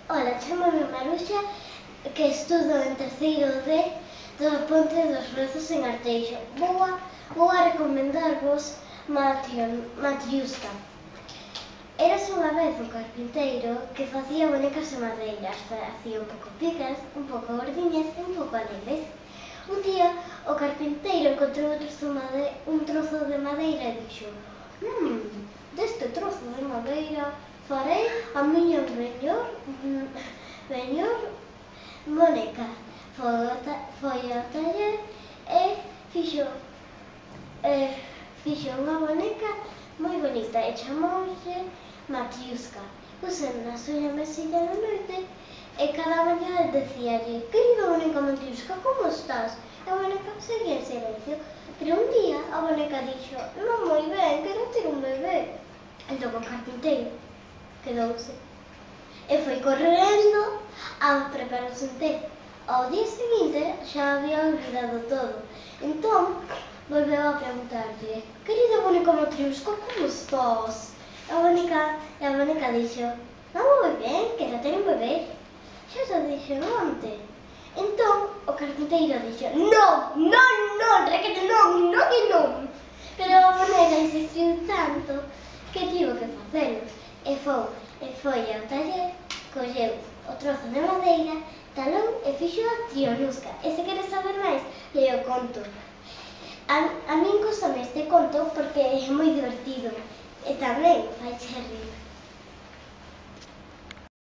Ola, chamame Maruxa, que estudo en terceiro D do Ponte dos Rozos en Arteixo. Vou a recomendarvos Matriuska. Eras unha vez un carpinteiro que facía bonecas de madeiras. Facía un pouco picas, un pouco gordiñas e un pouco alegres. Un día o carpinteiro encontrou un trozo de madeira e dixo: deste trozo de madeira farei a miña mellor boneca. Foi ao taller e fixo unha boneca moi bonita e chamouse Matriuska. Puse na súa mesilla de noite e cada mañá decíalle: querida boneca Matriuska, como estás? E a boneca seguía en silencio. Pero un día a boneca dixo: non moi ben, quero ter un bebé. Entón o carpinteiro quedouse e foi correndo a prepararse un té. Ao día seguinte xa había olvidado todo. Entón volveu a preguntarlle: querida boneca Matriuska, como estás? E a boneca dixo: non moi ben, quero ter un bebé. Xa te dixo onte. Entón o carpinteiro dixo: non, requete non e non. Pero a boneca insistiu tanto que tivo que facelo. E foi ao taller, colleu o trozo de madeira, talou e fixo a Trianuska. E se queres saber máis, leo o conto. A min gustame este conto porque é moi divertido e tamén fai rir.